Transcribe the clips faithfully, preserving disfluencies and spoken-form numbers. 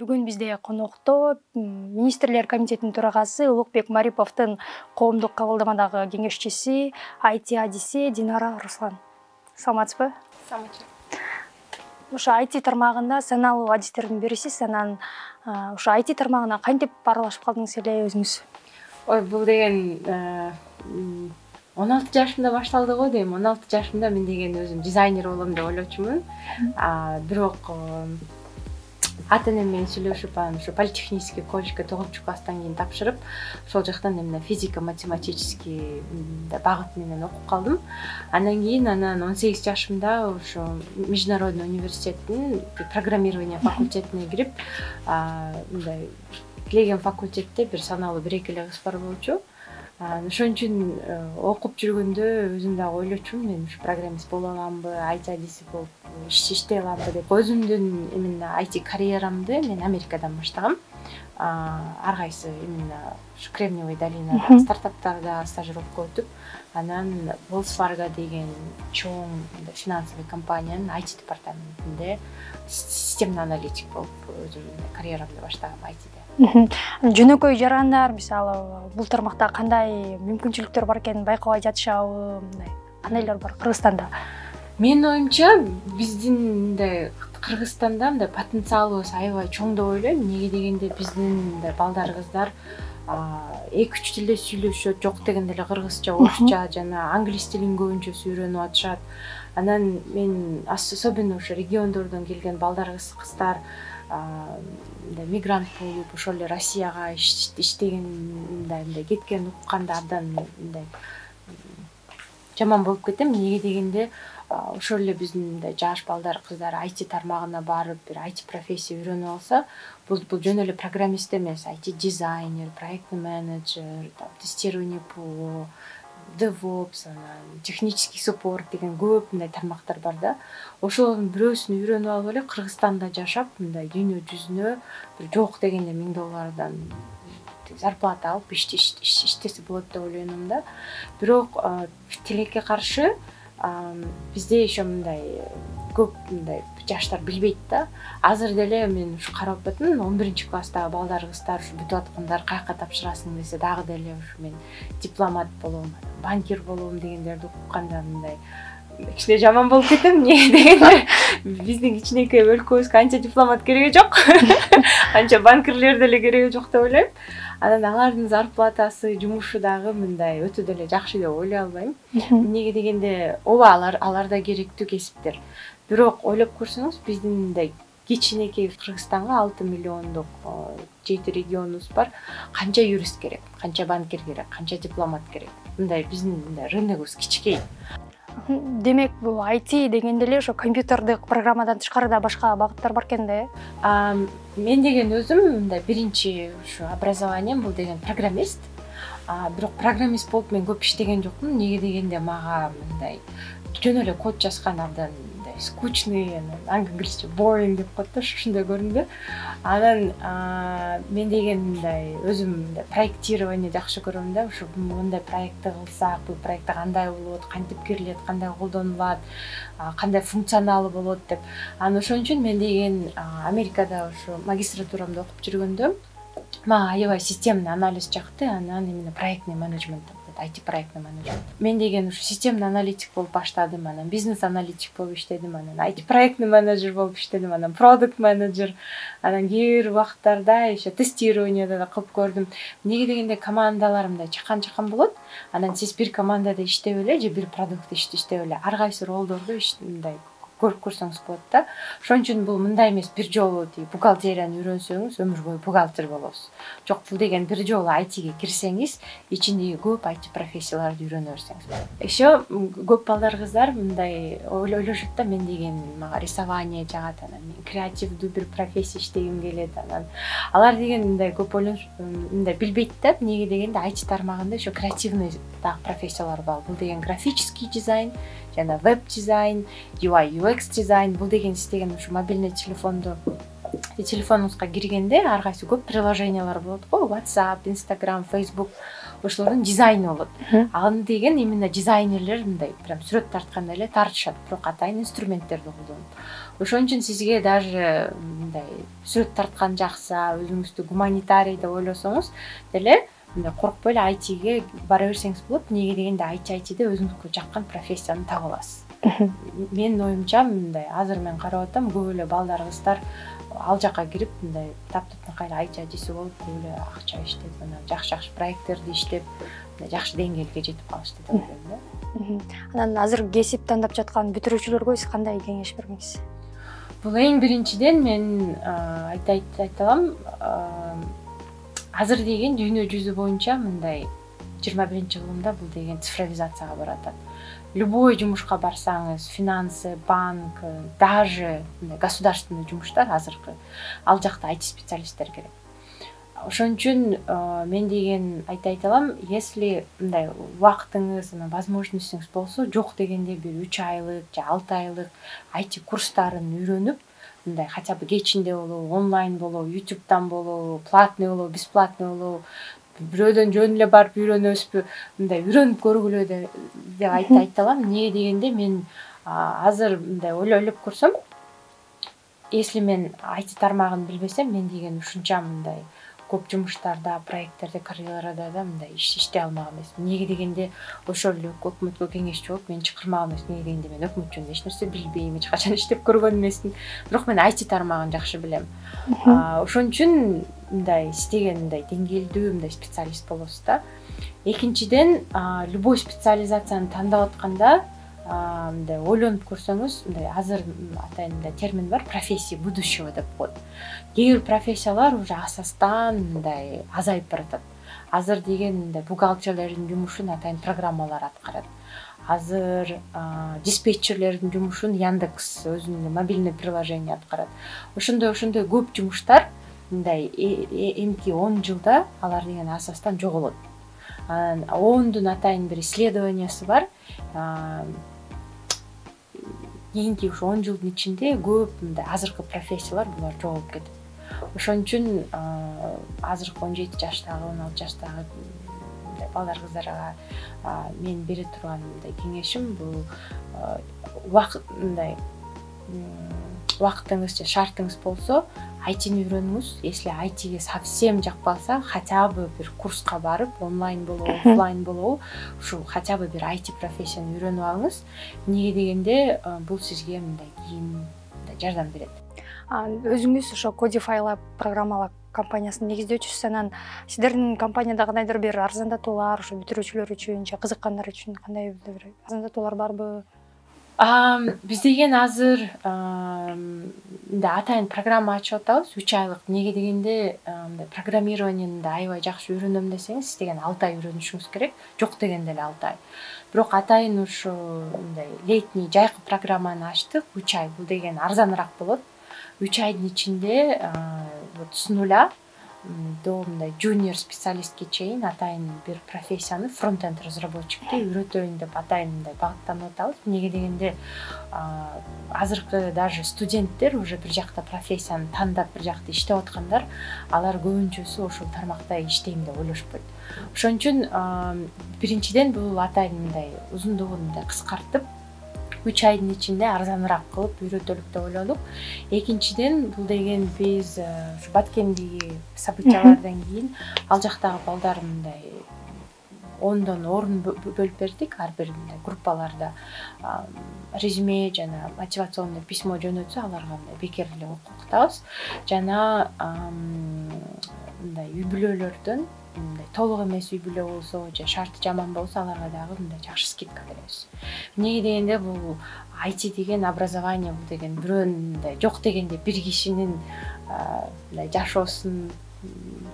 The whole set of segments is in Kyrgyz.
Бүгүн бизде конокто министрлер комитетинин төрагасы Улукбек Мариповдун коомдук кабылдамадагы кеңешчиси, ай ти адиси Динара Руслан. Саламатсызбы? Саламатчы. Ошо ай ти тармагында саналуу адистердин бирисиз, анан ошо ай ти тармагына кантип аралашып калдыңыз эле өзүңүз? Ой, бул деген он алты жашымда башталды го дейм. он алты жашымда мен деген өзүм дизайнер болом деп ойлочумун. Бирок ата-энем менен сүйлөшүп, анан ушу политехнический колледжге тогузунчу класстан кийин тапшырып, ошол жактан эмне физико-математический багыт менен окуп калдым. Андан кийин анан он сегиз жашымда ошо Международный университеттин программирование факультетине кирип, мындай тилеген факультетте бир саналуу бир эки эле кыз бар болчу. Ошон үчүн окуп жүргөндө өзүм дагы ойлочумун, мен ушу программист боло аламбы, ай ти адиси болуп иштей аламбы деп. Өзүмдүн именно ай ти карьерамды мен Америкадан баштагам. Ар кайсы именно ушу Кремниевый долинада стартаптарда стажировка өтүп, анан Wells Fargo деген чоң финансовый компаниянын ай ти департаментинде системный аналитик болуп өзүм карьерамды баштагам ай тиде. Жөнөкөй жарандар мисалы бул тармакта кандай мүмкүнчүлүктөр бар экенин байкабай жатышабы, мындай кандайлар бар Кыргызстанда? Менин оюмча биздин мындай Кыргызстанда мындай потенциалыбыз аябай чоң деп ойлойм. Эмнеге дегенде биздин мындай балдар кыздар эки үч тилде сүйлөшөт, жок дегенде эле кыргызча, орусча жана англис тилин көбүнчө үйрөнүп атышат. Анан мен особенно ошо региондордон келген балдар кыздар мигрант болуп, ошол эле Россияга иштеген мындай мындай кеткен укканда абдан мындай жаман болуп кетем. Эмнеге дегенде ошол эле биздин мындай жаш балдар кыздар ай ти тармагына барып, бир ай ти профессия үйрөнүп алса, бул бул жөн эле программист эмес, ай ти дизайнер, проектный менеджер, тестирование ПО, DevOps, технический суппорт деген көп мындай тармактар бар да. Ошолордун бирөөсүн үйрөнүп алып эле Кыргызстанда жашап, мындай дүйнө жүзүнө бир жок дегенде миң доллардан зарплата алып иштесе болот деп ойлойм да. Бирок тилекке каршы бизде еще мындай көп мындай жаштар билбейт да. Азыр деле мен ушу карап атам, он биринчи класстагы балдар кыздар ушу бүтүп аткандар каяка тапшырасың десе дагы деле ушу мен дипломат болом, банкир болом дегендерди укканда мындай кичине жаман болуп кетем. Эмне дегенде биздин кичинекей өлкөбүзгө анча дипломат кереги жок, анча банкирлер деле кереги жок деп ойлойм. Анан алардын зарплатасы, жумушу дагы мындай өтө деле жакшы деп ойлой албайм. Эмнеге дегенде ооба алар алар да керектүү кесиптер. Бирок ойлоп көрсөңүз, биздин мындай кичинекей Кыргызстанга алты миллиондук жети регионубуз бар. Канча юрист керек, канча банкир керек, канча дипломат керек. Мындай биздин мындай рыногубуз кичикей. Демек, бул ай ти дегенде эле ошо компьютердик программадан тышкары да башка багыттар бар экен да? Мен деген өзүм мындай биринчи ушу образованием бул деген программист. Бирок программист болуп мен көп иштеген жокмун. Эмнеге дегенде мага мындай жөн эле код жазган абдан мындай скучный, англисче boring деп коет да, ушундай көрүндү. Анан мен деген мындай өзүм мындай проектирование жакшы көрөм да. Ушу мындай проектти кылсак, бул проекти кандай болот, кантип кирилет, кандай колдонулат, кандай функционалы болот деп. Анан ошон үчүн мен деген Америкада ушу магистратурамды окуп жүргөндө мага аябай системный анализ жакты, анан именно проектный менеджмент, ай ти проектный менеджмент. Мен деген ушу системный аналитик болуп баштадым, анан бизнес аналитик болуп иштедим, анан ай ти проектный менеджер болуп иштедим, анан продукт менеджер, анан кээ бир убакыттарда еще тестированияда да кылып көрдүм. Эмнеге дегенде командалар мындай чакан-чакан болот, анан сиз бир командада иштеп эле же бир продукт иштеп эле ар кайсы ролдорду мындай көрүп көрсөңүз болот да. Ошон үчүн бул мындай эмес, бир жолу тиги бухгалтерияны үйрөнсөңүз өмүр бою бухгалтер болосуз. Жок, бул деген бир жолу ай тиге кирсеңиз, ичиндеги көп ай ти профессияларды үйрөнө берсеңиз болот. Еще көп балдар кыздар мындай ойлошот да, мен деген мага рисование жагат, анан мен креативдүү бир профессия иштегим келет, анан алар деген мындай көп ойлонуп мындай билбейт да. Эмнеге дегенде ай ти тармагында еще креативный дагы профессиялар бар. Бул деген графический дизайн жана веб-дизайн, ю ай ю экс дизайн. Бул деген сиз деген ушу мобильный телефонду телефонуңузга киргенде ар кайсы көп приложениялар болот го, WhatsApp, Instagram, Facebook. ошолордун дизайны болот. Аны деген именно дизайнерлер мындай прям сүрөт тартканда эле тартышат, бирок атайын инструменттерди колдонот. Ошон үчүн сизге даже мындай сүрөт тарткан жакса, өзүңүздү гуманитарий деп ойлосоңуз деле мындай коркпой эле ай тиге бара берсеңиз болот. Неге дегенде ай ти ай тиде өзүңүзгө жаккан профессияны таба аласыз. Менин оюмча мындай азыр мен карап атам, көп эле балдар, кыздар ал жака кирип мындай таптыктыкай ай ти ай тиси болуп, көп эле акча иштеп, анан жакшы-жакшы проекттерди иштеп, жакшы деңгээлге жетип калышты деп ойлойм да. Анан азыр кесип тандап жаткан бүтүрүүчүлөргө сиз кандай кеңеш бермекчисиз? Бул эң биринчиден мен айта айталам, азыр деген дүйнө жүзү боюнча мындай жыйырма биринчи кылымда бул деген цифровизацияга баратат. Любой жумушка барсаңыз, финансы, банк, даже государственный жумуштар азыркы ал жакта ай ти специалисттер керек. Ошон үчүн мен деген айта айталам, если мындай убактыңыз, возможностуңуз болсо, жок дегенде бир үч айлык же алты айлык ай ти курстарын үйрөнүп, мындай хотя бы кечинде болобу, онлайн болобу, ютубтан болобу, платный болобу, бесплатный болобу, бирөөдөн жөн эле барып үйрөнөбүзбү, мындай үйрөнүп көргүлө деп айта айталам. Эмне дегенде мен азыр мындай ойлоп көрсөм, если мен ай ти тармагын билбесем, мен деген ушунча мындай көп жумуштарда, проекттерде, карьерада да мындай иш иштей алмак эмесмин. Эмне дегенде ошол эле өкмөткө кеңешчи болуп мен чакырмак эмесмин. Эмне дегенде мен өкмөт жөнүндө эч нерсе билбейм, эч качан иштеп көргөн эмесмин. Бирок мен ай ти тармагын жакшы билем. Ошон үчүн мындай истеген мындай деңгээлдүү мындай специалист болосуз да. Экинчиден, любой специализацияны тандап атканда мындай ойлонуп көрсөңүз, мындай азыр атайын мындай термин бар, профессии будущего деп коет. Кээ бир профессиялар уже асастан мындай азайып баратат. Азыр деген мындай бухгалтерлердин жумушун атайын программалар аткарат. Азыр диспетчерлердин жумушун Яндекс өзүнүн мобильный приложение аткарат. Ошондой ошондой көп жумуштар мындай эмки он жылда алар деген асастан жоголот. Ондун атайын бир исследованиясы бар. Кийинки ушу он жылдын ичинде көп мындай азыркы профессиялар булар жоголуп кетет. Ошон үчүн азыркы он жети жаштагы, он алты жаштагы балдар, кыздарга мен бере турган мындай кеңешим бул убакыт мындай убактыңыз же шартыңыз болсо, ай тини үйрөнүңүз. Если ай тиге совсем жакпаса, хотя бы бир курска барып, онлайн болобу, офлайн болобу, ушу хотя бы бир ай ти профессияны үйрөнүп алыңыз. Эмне дегенде бул сизге мындай кийин жардам берет. Өзүңүз ошо Codify Lab программалар компаниясын негиздөөчүсүз. Анан сиздердин компанияда кандайдыр бир арзандатуулар ошо бүтүрүүчүлөр үчүн же кызыккандар үчүн кандай бир арзандатуулар барбы? Биз деген азыр мындай атайын программа ачып атабыз, үч айлык. Эмне дегенде мындай программированияны аябай жакшы үйрөнөм десеңиз, сиз деген алты ай үйрөнүшүңүз керек. Жок дегенде эле алты ай. Бирок атайын ушу мындай летний жайкы программаны ачтык, үч ай. Бул деген арзаныраак болот. үч айдын ичинде вот с нуля до мындай junior специалистке чейин атайын бир профессияны фронт-энд разработчикти үйрөтөйүн деп атайын мындай багыттанып атабыз. Эмне дегенде азыркы даже студенттер уже бир жакта профессияны тандап бир жакта иштеп аткандар, алар көбүнчөсү ошол тармакта иштейм деп ойлошпойт. Ошон үчүн биринчиден бул атайын мындай узундугун мындай кыскартып, үч айдын ичинде арзаныраак кылып үйрөтөлүк деп ойлодук. Экинчиден, бул деген биз ушу Баткендеги событиялардан кийин ал жактагы балдар мындай ондон орун бөлүп бердик. Ар бир мындай группаларда резюме жана мотивационный письмо жөнөтсө, аларга мындай бекер эле окутабыз. Жана мындай үй бүлөлөрдөн мындай толук эмес үй бүлө болсо же шарты жаман болсо, аларга дагы мындай жакшы скидка беребиз. Эмне дегенде бул ай ти деген образование, бул деген бирөөнүн мындай жок дегенде бир кишинин мындай жашоосун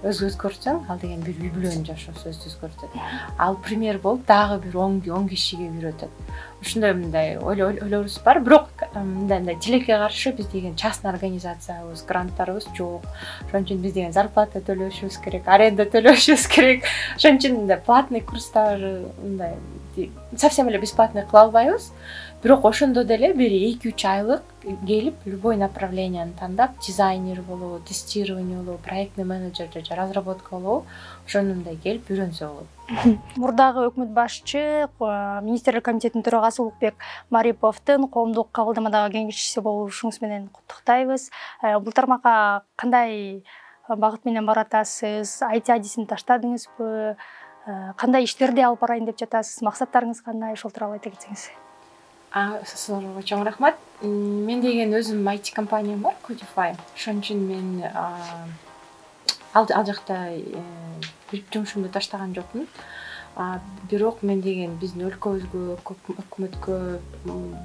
өзгөртүп көрсөң, ал деген бир үй бүлөнүн жашоосун өзгөртөт. Ал пример болуп дагы бир он кишиге үйрөтөт. Ушундай мындай ойлорубуз бар. Бирок мындай мындай тилекке каршы биз деген частный организациябыз, гранттарыбыз жок. Ошон үчүн биз деген зарплата төлөшүбүз керек, аренда төлөшүбүз керек. Ошон үчүн мындай платный курстар мындай совсем эле бесплатный кыла албайбыз, бирок ошондо деле бир эки үч айлык келип любой направленияны тандап, дизайнер болобу, тестирование болобу, проектный менеджер же разработка болобу, ошону мындай келип үйрөнсө болот. Мурдагы өкмөт башчы, министрлер комитетинин төрагасы Улукбек Мариповдун коомдук кабылдамадагы кеңешчиси болушуңуз менен куттуктайбыз. Бул тармакка кандай багыт менен баратасыз? ай ти адисин таштадыңызбы? Кандай иштерди алып барайын деп жатасыз? Максаттарыңыз кандай? Ошол тууралуу айта кетсеңиз. Суроого чоң рахмат. Мен деген өзүм ай ти компаниям бар, Codify. Ошон үчүн мен ал жакта жумушумду таштаган жокмун. Бирок мен деген биздин өлкөбүзгө, өкмөткө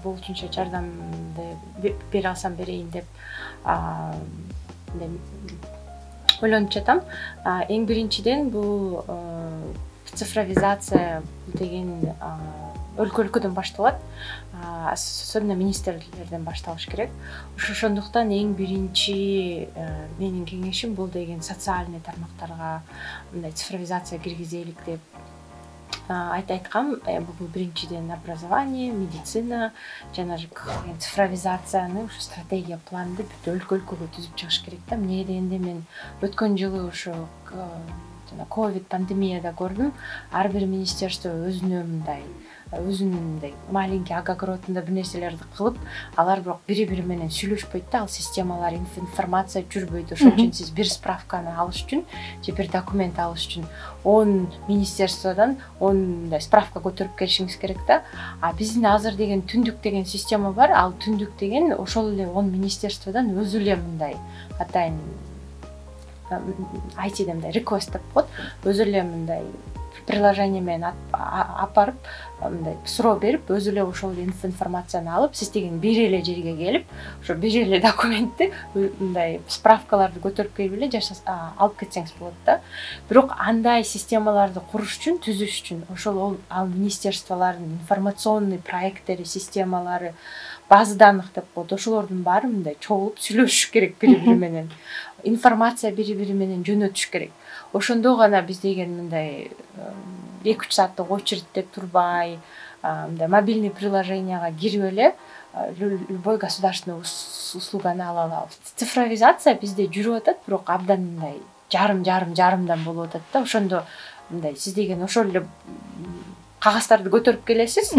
болушунча жардамды бере алсам берейин деп ойлонуп жатам. Эң биринчиден бул цифровизация деген өлкө өлкөдөн башталат, особенно министрлерден башталыш керек. Ошондуктан эң биринчи менин кеңешим бул деген социальный тармактарга мындай цифровизация киргизелик деп айткам. Бул биринчиден образование, медицина жана цифровизацияны ушу стратегия планды бүт өлкө өлкөгө түзүп чыгыш керек да. Эмнеге дегенде мен өткөн жылы ошо ковид пандемияда көрдүм, ар бир министерство өзүнө мындай өзүнүн мындай маленький огородунда бир нерселерди кылып, алар бирок бири-бири менен сүйлөшпөйт да, ал системалар, информация жүрбөйт. Ошон үчүн сиз бир справканы алыш үчүн же бир документ алыш үчүн он министерстводон он мындай справка көтөрүп келишиңиз керек да. А биздин азыр деген түндүк деген система бар. Ал түндүк деген ошол эле он министерстводон өзү эле мындай атайын ай ти мындай request деп коет, өзү эле мындай приложение менен апарып, мындай суроо берип, өзү эле ошол информацияны алып, сиз деген бир эле жерге келип, ошо бир эле документти, мындай справкаларды көтөрүп келип эле алып кетсеңиз болот да. Бирок андай системаларды куруш үчүн, түзүш үчүн ошол ал министерстволордун информационный проекттери, системалары, база данных деп коет, ошолордун баары мындай чогулуп сүйлөшүш керек бири-бири менен. Информация бири-бири менен жөнөтүш керек. Ошондо гана биз деген мындай эки үч сааттык очередьте турбай, мындай мобильный приложенияга кирип эле любой государственный услуганы ала алабыз. Цифровизация бизде жүрүп атат, бирок абдан мындай жарым жарым жарымдан болуп атат да. Ошондо мындай сиз деген ошол эле кагаздарды көтөрүп келесиз,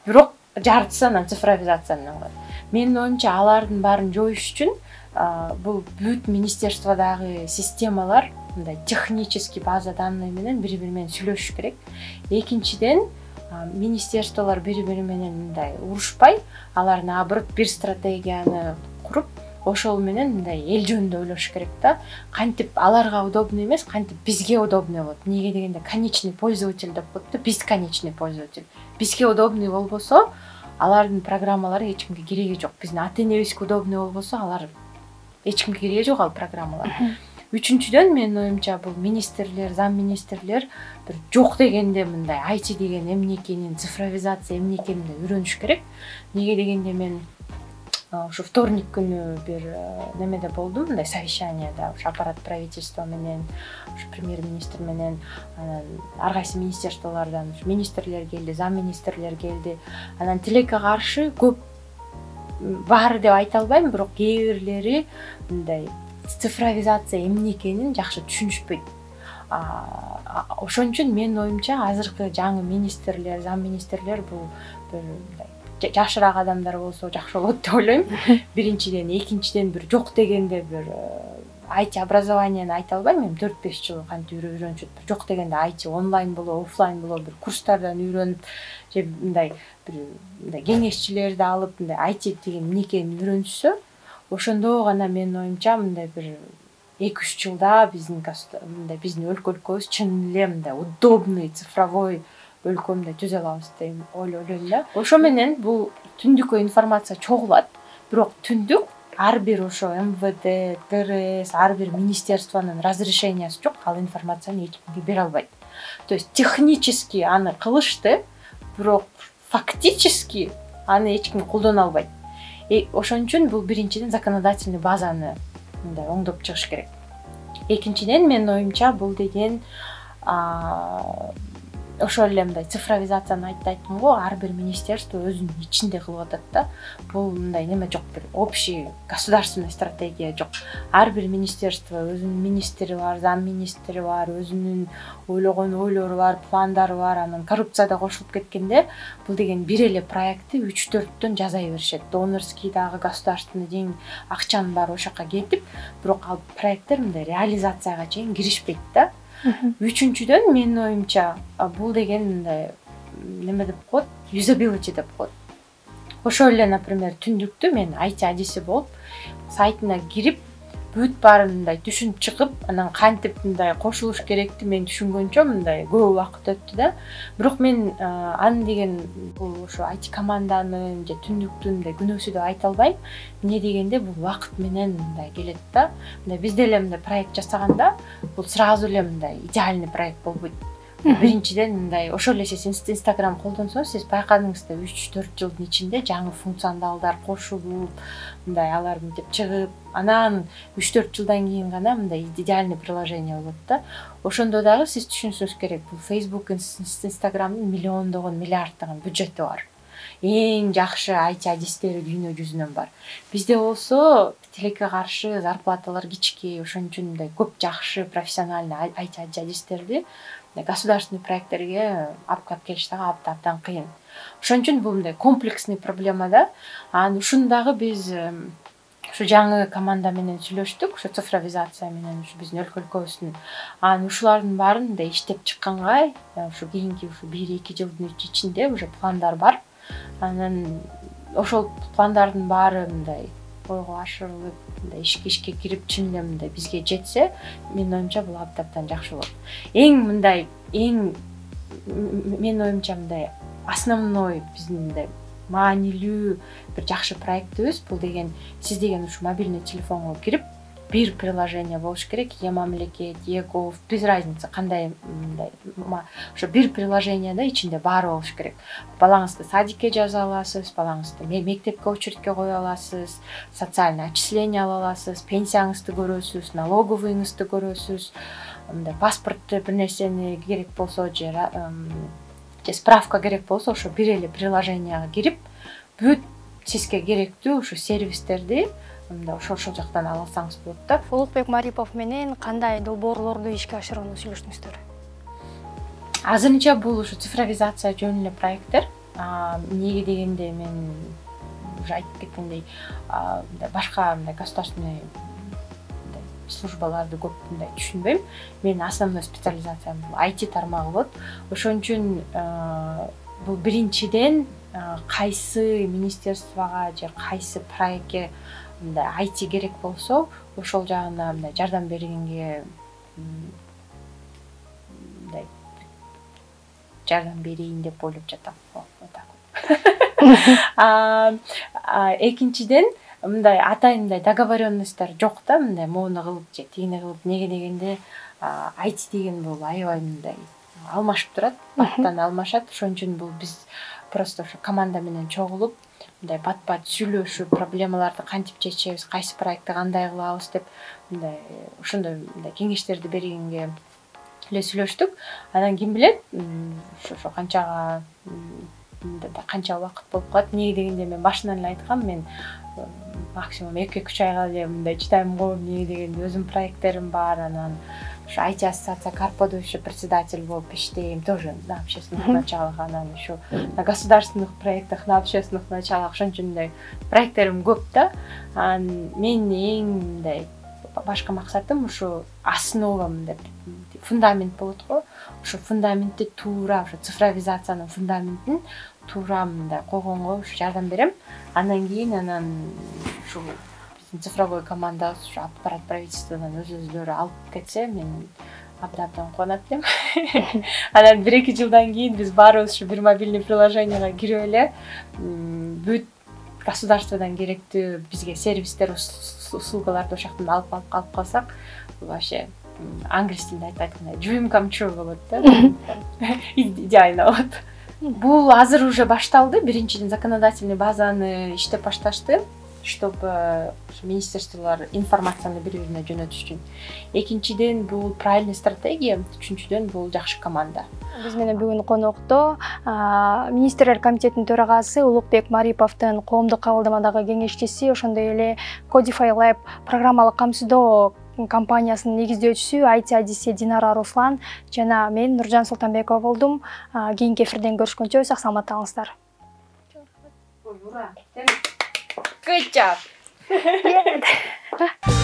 бирок жартысы анан цифровизациядан калат. Менин оюмча алардын баарын жоюш үчүн бул бүт министерстводагы системалар мындай технический база данный менен бири-бири менен сүйлөшүш керек. Экинчиден, министерстволор бири-бири менен мындай урушпай, алар наоборот бир стратегияны куруп, ошол менен мындай эл жөнүндө ойлош керек да. Кантип аларга удобный эмес, кантип бизге удобный болот. Эмнеге дегенде конечный пользователь деп коет да, биз конечный пользователь. Бизге удобный болбосо, алардын программалары эч кимге кереги жок. Биздин ата-энебизге удобный болбосо, алар эч кимге кереги жок ал программалар. Үчүнчүдөн менин оюмча бул министрлер, зам министрлер бир жок дегенде мындай ай ти деген эмне экенин, цифровизация эмне экенин үйрөнүш керек. Эмнеге дегенде мен ошо вторник күнү бир немеде болдум, мындай совещанияда, ошо аппарат правительства менен, ошо премьер-министр менен, анан ар кайсы министерстволордон министрлер келди, зам министрлер келди. Анан тилекке каршы көп баары деп айта албайм, бирок кээ бирлери мындай цифровизация эмне экенин жакшы түшүнүшпөйт. Ошон үчүн менин оюмча азыркы жаңы министрлер, зам министрлер бул бир жашыраак адамдар болсо жакшы болот деп ойлойм. Биринчиден, экинчиден бир жок дегенде бир ай ти образованияны айта албайм, эми төрт беш жыл кантип үйрөнүшөт. Жок дегенде ай ти онлайн болобу, офлайн болобу, бир курстардан үйрөнүп, же мындай бир мындай кеңешчилерди алып, мындай ай ти деген эмне экенин үйрөнүшсө, ошондо гана менин оюмча мындай бир эки үч жылда биздин мындай биздин өлкө өлкөбүз чын эле мындай удобный цифровой өлкө мындай түзө алабыз деп ойлойм да. Ошо менен бул түндүккө информация чогулат, бирок түндүк ар бир ошо эм вэ дэ, тэ эр эс, ар бир министерствонун разрешениясы жок, ал информацияны эч кимге бере албайт. То есть технически аны кылышты, бирок фактически аны эч ким колдоно албайт. Ошон үчүн бул биринчиден законодательный базаны мындай оңдоп чыгыш керек. Экинчиден менин оюмча бул деген ошол эле мындай цифровизацияны айтты айттым го, ар бир министерство өзүнүн ичинде кылып атат да. Бул мындай неме жок, бир общий государственный стратегия жок. Ар бир министерство өзүнүн министри бар, зам министри бар, өзүнүн ойлогон ойлору бар, пландары бар. Анан коррупция да кошулуп кеткенде бул деген бир эле проектти үч төрттөн жасай беришет. Донорский дагы государственный ден акчанын баары ошол жака кетип, бирок ал проекттер мындай реализацияга чейин киришпейт да. Үчүнчүдөн менин оюмча бул деген мындай неме деп коет, юзабилити деп коет. Ошол эле, например, түндүктү мен ай ти адиси болуп сайтына кирип, бүт баарын мындай түшүнүп чыгып, анан кантип мындай кошулуш керекти мен түшүнгөнчө мындай көп убакыт өттү да. Бирок мен аны деген бул ошо ай ти команданын же түндүктүн мындай күнөөсү деп айта албайм. Эмне дегенде бул убакыт менен мындай келет да. Мындай биз деле мындай проект жасаганда бул сразу эле мындай идеальный проект болбойт. Биринчиден мындай ошол эле сиз Instagram колдонсоңуз, сиз байкадыңызда үч төрт жылдын ичинде жаңы функционалдар кошулуп, мындай алар мынтип чыгып, анан үч төрт жылдан кийин гана мындай идеальный приложение болот да. Ошондо дагы сиз түшүнүшүңүз керек, бул Facebook, Instagramдын миллиондогон, миллиарддаган бюджети бар. Эң жакшы ай ти адистери дүйнө жүзүнөн бар. Бизде болсо тилекке каршы зарплаталар кичке, ошон үчүн мындай көп жакшы профессиональный ай ти адистерди государственный проекттерге алып келип келиш дагы абдан кыйын. Ошон үчүн бул мындай комплексный проблема да. Анан ушуну дагы биз ушу жаңы команда менен сүйлөштүк, ушу цифровизация менен ушу биздин өлкөлүкөбүздүн. Анан ушулардын баарын мындай иштеп чыкканга, ушу кийинки ушу бир эки жылдын ичинде уже пландар бар. Анан ошол пландардын баары мындай ойго ашырылып, мындай ишке ишке кирип, чын эле мындай бизге жетсе, менин оюмча бул абдан жакшы болот. Эң мындай, эң менин оюмча мындай основной биздин мындай маанилүү бир жакшы проектибиз бул деген, сиз деген ушу мобильный телефонго кирип, бир приложение болуш керек, е-мамлекет, е-гов, без разницы кандай мындай, ошо бир приложениеде ичинде баары болуш керек. Балаңызды садикке жаза аласыз, балаңызды мектепке очередке кое аласыз, социальный отчисление ала аласыз, пенсияңызды көрөсүз, налоговыйыңызды көрөсүз, мындай паспортту бир нерсени керек болсо же же справка керек болсо, ошо бир эле приложенияга кирип, бүт сизге керектүү ушу сервистерди мындай ошол ошол жактан ала алсаңыз болот да. Улукбек Марипов менен кандай долбоорлорду ишке ашырууну сүйлөштүңүздөр? Азырынча бул ушу цифровизация жөнүндө эле проекттер. Эмнеге дегенде мен уже айтып кеткендей, башка мындай государственный службаларды көп мындай түшүнбөйм. Менин основной специализациям бул ай ти тармагы болот. Ошон үчүн бул биринчиден кайсы министерствого же кайсы проектке мындай ай ти керек болсо, ошол жагына мындай жардам бергенге мындай жардам берейин деп ойлоп жатам. Экинчиден мындай атайын мындай договоренностьтер жок да, мындай моуну кылып же тигини кылып. Неге дегенде ай ти деген бул аябай мындай алмашып турат, баттан алмашат. Ошон үчүн бул биз просто ошо команда менен чогулуп, мындай бат-бат сүйлөшүп, проблемаларды кантип чечебиз, кайсы проектти кандай кылабыз деп мындай ошондой мындай кеңештерди бергенге эле сүйлөштүк. Анан ким билет, ошо канчага канча убакыт болуп калат. Неге дегенде мен башынан эле айткам, мен максимум эки үч айга эле мындай чыдайм го. Неге дегенде өзүм проекттерим бар, анан ушу ай ти ассоциация Карподо еще председатель болуп иштейм, тоже на общественных началах, анан еще на государственных проектах, на общественных началах. Ошон үчүн мындай проекттерим көп да. Анан менин эң мындай башка максатым ушу основа мындай фундамент болот го. Ушу фундаментти туура, ушу цифровизациянын фундаментин туура мындай койгонго ушу жардам берем. Андан кийин анан ушу биздин цифровой команда ушу аппарат правительстводан өз өздөрү алып кетсе, мен абдан кубанат элем. Анан бир эки жылдан кийин биз баарыбыз ушу бир мобильный приложенияга кирип эле бүт государстводан керектүү бизге сервистер, услугаларды ошол жактан алып алып алып калсак, бул вообще англис тилинде айтып айткандай dream come true болот да. Идеально болот. Бул азыр уже башталды. Биринчиден законодательный базаны иштеп башташты. чтобы министрликтер информацияны бири-бирине жөнөтүш үчүн. Экинчиден, бул правильный стратегия, үчүнчүдөн, бул жакшы команда. Биз менен бүгүн конокто министрлер комитетинин төрагасы Улукбек Мариповдун коомдук кабылдамадагы кеңешчиси, ошондой эле Codify Lab программалык камсыздоо компаниясынын негиздөөчүсү ай ти адиси Динара Руслан жана мен Нуржан Султанбекова болдум. Кийинки эфирден көрүшкөнчө сак саламатта калыңыздар. Good job. Yeah.